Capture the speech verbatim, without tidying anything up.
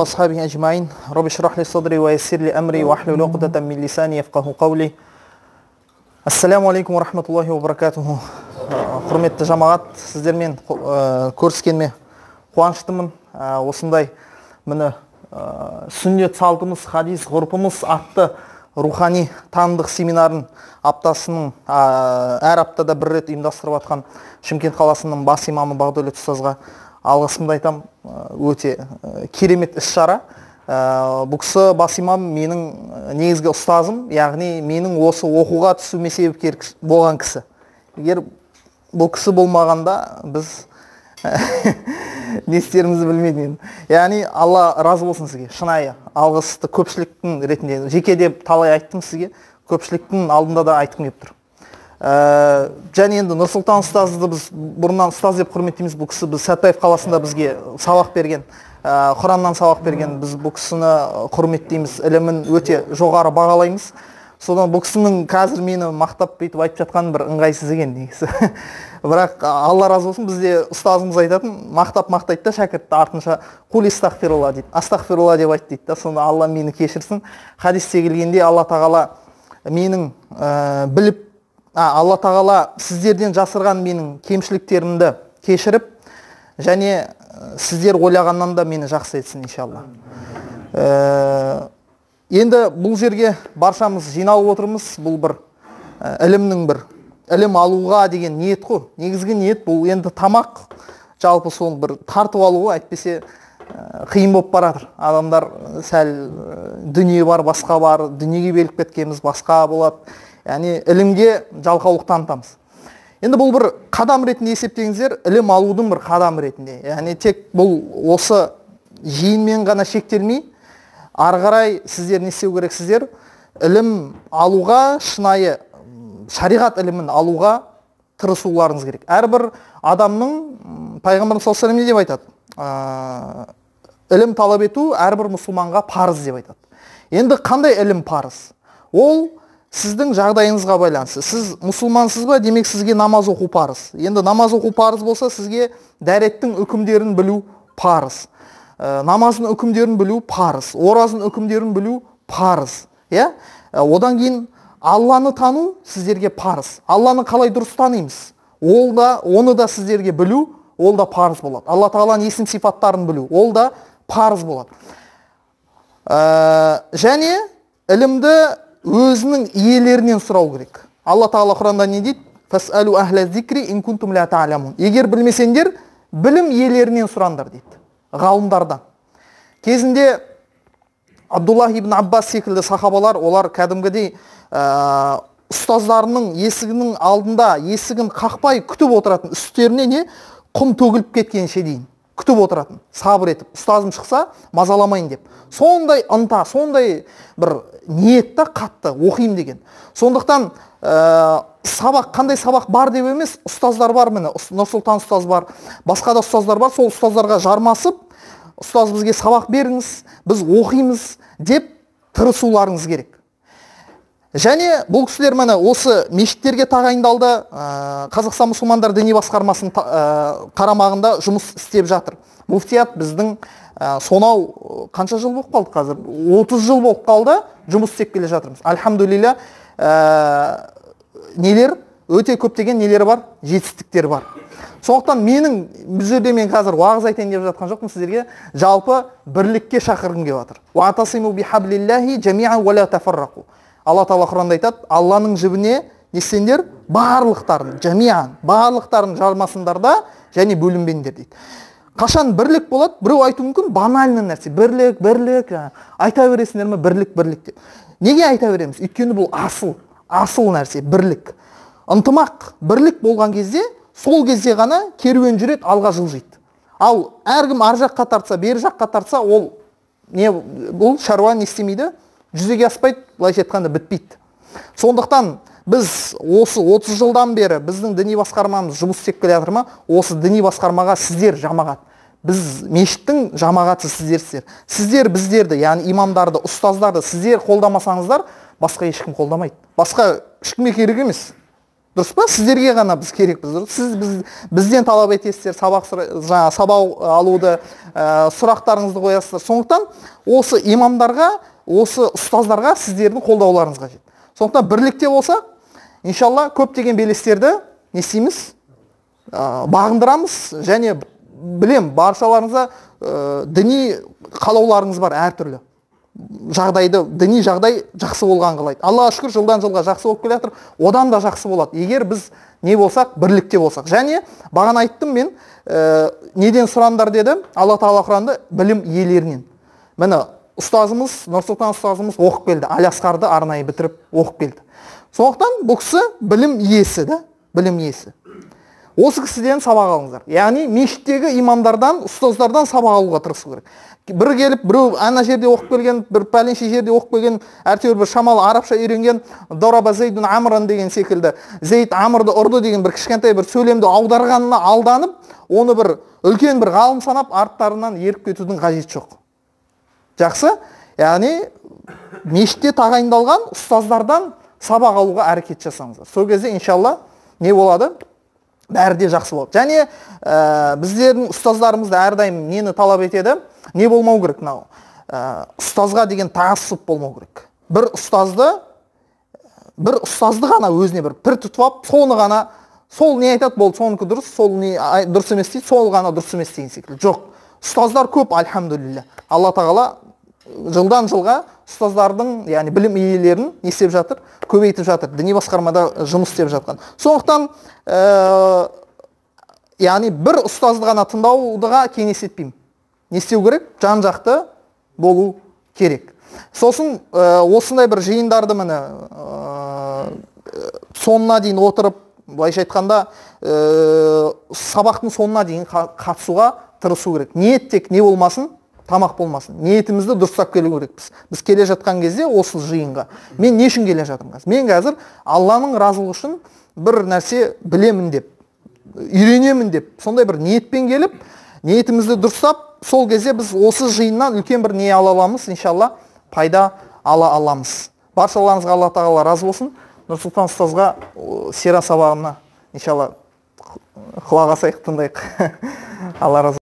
أصحابي أجمعين رب اشرح لي صدري ويسر لي أمري واحلل عقدة من لساني يفقهوا قولي. Ассаламу алейкум ва рахматуллахи ва баракатуху. Құрметті жамағат, сіздермен көріскеніме қуаныштымын. Осындай міне сүннет салтымыз, хадис ғұрпымыз атты рухани танымдық семинарын аптасының әр аптада бір рет ұйымдастырып жатқан Шымкент қаласының бас имамы Бағдәулет ұстазға алғысымды айтам. Өте керемет іс-шара. Бұл кісі бас имам менің негізгі ұстазым, яғни менің осы оқуға түсуіме себепкер болған кісі. Егер бұл кісі болмағанда біз не істерімізді білмедім. Яғни Алла разы болсын сізге. Шынайы алғысты көпшіліктің ретінде, жеке деп талай айттым сізге, көпшіліктің алдында да айтқым келіп тұр. Және енді Нұрсұлтан ұстазды біз бұрыннан ұстаз деп құрметтейміз. Бұл кісі біз Сәтпаев қаласында бізге сабақ берген, Құраннан сабақ берген. Біз бұл кісіні құрметтейміз, ілімін өте жоғары бағалаймыз. Содан бұл кісінің қазір мені мақтап бүйтіп айтып жатқан бір ыңғайсыз екен негізі. Бірақ Алла разы болсын, бізде ұстазымыз айтатын, мақтап мақтайды да шәкіртті артынша қул астағфирулла дейді. Астағфирулла деп айт дейді да. Сонда Алла мені кешірсін. Хадисте келгенде Алла тағала менің біліп Алла тағала сіздерден жасырған менің кемшіліктерімді кешіріп, және сіздер ойлағаннан да мені жақсы етсін, иншалла. Енді бұл жерге баршамыз жиналып отырмыз. Бұл бір ілімнің бір ілім алуға деген ниет қой. Негізгі ниет бұл енді тамақ, жалпы сол бір тартып алуға, әйтпесе қиын болып баратыр. Адамдар сәл дүние бар, басқа бар, дүниеге беліп кеткеніміз басқа болады. Яғни ілімге жалқаулық танытамыз. Енді бұл бір қадам ретінде есептеңіздер, ілім алудың бір қадам ретінде. Яғни тек бұл осы жиынмен ғана шектелмей, ары қарай сіздер не істеу керексіздер? Ілім алуға, шынайы шариғат ілімін алуға тырысуларыңыз керек. Әрбір адамның, пайғамбарымыз саллаллаху алейхи ва саллям не деп айтады? Ілім талап ету әрбір мұсылманға парыз деп айтады. Енді қандай ілім парыз? Ол сіздің жағдайыңызға байланысты. Сіз мұсылмансыз ба, демек сізге намаз оқу парыз. Енді намаз оқу парыз болса, сізге дәреттің үкімдерін білу парыз. Намаздың үкімдерін білу парыз. Оразың үкімдерін білу парыз. Одан кейін Алланы тану сіздерге парыз. Алланы қалай дұрыс танимыз? Ол да, оны да сіздерге білу, ол да парыз болады. Алла тағаланың есім сипаттарын білу, ол да парыз болады. Және ілімді өзінің иелерінен сұрау керек. Алла тағала Құранда не дейді? Фасалу ахла зикри ин кунтум ла та'ламун. Егер білмесеңдер, білім иелерінен сұраңдар дейді. Ғалымдардан. Кезінде Абдуллах ибн Аббас секілді сахабалар, олар кәдімгідей ұстаздарының есігінің алдында есігін қақпай күтіп отыратын, үстеріне не құм төгіліп кеткенше дейін күтіп отыратын, сабыр етіп, ұстазым шықса мазаламайын деп. Сондай ынта, сондай бір ниетті қатты оқимын деген. Сондықтан сабақ, қандай сабақ бар деп емес, ұстаздар бар, міне Нұрсұлтан ұстаз бар, басқа да ұстаздар бар. Сол ұстаздарға жармасып, ұстаз бізге сабақ беріңіз, біз оқимыз деп тырысуларыңыз керек. Және бұл кісілер міне осы мешіттерге тағайындалды. Қазақстан мұсылмандар діни басқармасының қарамағында жұмыс істеп жатыр. Муфтият біздің сонау қанша жыл болып қалды қазір? отыз жыл болып қалды жұмыс істеп келе жатырмыз. Альхамдулилля, нелер өте көптеген нелері бар, жетістіктері бар. Сондықтан менің бұл жерде мен қазір уағыз айтайын деп жатқан жоқпын сіздерге, жалпы бірлікке шақырғым келіп жатыр. Уатасиму бихаблиллахи жамиан ва ла тафаррақу. Алла тағала Құранда айтады, Алланың жібіне не істеңдер? Барлықтарын, жамиан, барлықтарын жармасыңдар да, және бөлінбеңдер дейді. Қашан бірлік болады? Біреу айту мүмкін банальный нәрсе. Бірлік, бірлік, айта бересіңдер ме? Бірлік, бірлік деп. Неге айта береміз? Өйткені бұл асыл, асыл нәрсе, бірлік. Ынтымақ, бірлік болған кезде, сол кезде ғана керуен жүреді, алға жылжиды. Ал әркім ар жаққа тартса, бер жаққа тартса, ол не бұл шаруа не істемейді? Жүзеге аспайды, былайша айтқанда бітпейді. Сондықтан біз осы отыз жылдан бері біздің діни басқармамыз жұмыс істеп келе жатыр ма? Осы діни басқармаға сіздер жамағат. Біз мешіттің жамағаты сіздерсіздер. Сіздер біздерді, яғни имамдарды, ұстаздарды сіздер қолдамасаңыздар, басқа ешкім қолдамайды. Басқа ешкімге керек емес. Дұрыс па? Сіздерге ғана біз керекпіз. Сіз біз, бізден талап етесіздер, сабақ жаңа сабақ алуды, ә, сұрақтарыңызды қоясыздар. Сондықтан осы имамдарға, осы ұстаздарға сіздердің қолдауларыңыз қажет. Сондықтан бірлікте болсақ, иншалла көптеген белестерді не істейміз? Ә, бағындырамыз, және білем, баршаларыңызға ә, діни қалауларыңыз бар әртүрлі. Жағдайды, діни жағдай жақсы болған қалайды. Аллаға шүкір, жылдан жылға жақсы болып келе жатыр, одан да жақсы болады. Егер біз не болсақ, бірлікте болсақ. Және бағана айттым мен, ә, неден сұрандар деді? Алла Тағала Құранды білім иелерінен. Міне, ұстазымыз, Нұрсұлтан ұстазымыз оқып келді. Алиасқарды арнайы бітіріп оқып келді. Сондықтан бұл кісі білім иесі, да? Білім иесі. Осы кісіден сабақ алыңыздар. Яғни мешіттегі имамдардан, ұстаздардан сабақ алуға тырысу керек. Бір келіп, біреу ана жерде оқып келген, бір пәленше жерде оқып келген, әртеуір бір шамалы арабша үйренген, Дораба Зейдун Амран деген секілді, Зейд Амрды ұрды деген бір кішкентай бір сөйлемді аударғанына алданып, оны бір үлкен бір ғалым санап, арттарынан еріп кетудің қажеті жоқ. Жақсы? Яғни мешітте тағайындалған ұстаздардан сабақ алуға әрекет жасаңыздар. Сол кезде иншалла не болады? Бәрі де жақсы болады. Және ә, біздердің ұстаздарымызды әрдайым нені талап етеді? Не болмау керек мынау? Ә, ұстазға деген тағассұп болмау керек. Бір ұстазды, бір ұстазды ғана өзіне бір пір тұтып алып, соны ғана, сол не айтады, болды, соныкі дұрыс, сол не дұрыс емес дейді, сол ғана дұрыс емес деген секілді. Жоқ. Ұстаздар көп, альхамдулилля. Алла Тағала жылдан жылға ұстаздардың, яғни білім иелерін не істеп жатыр? Көбейтіп жатыр. Діни басқармада жұмыс істеп жатқан. Сондықтан, ә, яғни бір ұстазды ғана тыңдаудыға кеңес етпеймін. Не істеу керек? Жан-жақты болу керек. Сосын ә, осындай бір жиындарды міне ә, соңына дейін отырып, былайша айтқанда, ә, сабақтың соңына дейін қатысуға тырысу керек. Ниет тек не болмасын? Тамақ болмасын. Ниетімізді дұрыстап келу керекпіз. Біз келе жатқан кезде осы жиынға. Мен не үшін келе жатырмын қазір? Мен қазір Алланың разылығы үшін бір нәрсе білемін деп, үйренемін деп, сондай бір ниетпен келіп, ниетімізді дұрыстап, сол кезде біз осы жиыннан үлкен бір не ала аламыз, иншалла, пайда ала аламыз. Баршаларыңызға Алла Тағала разы болсын. Нұрсұлтан ұстазға сира сабағына иншалла құлақ асайық, тыңдайық. Алла разы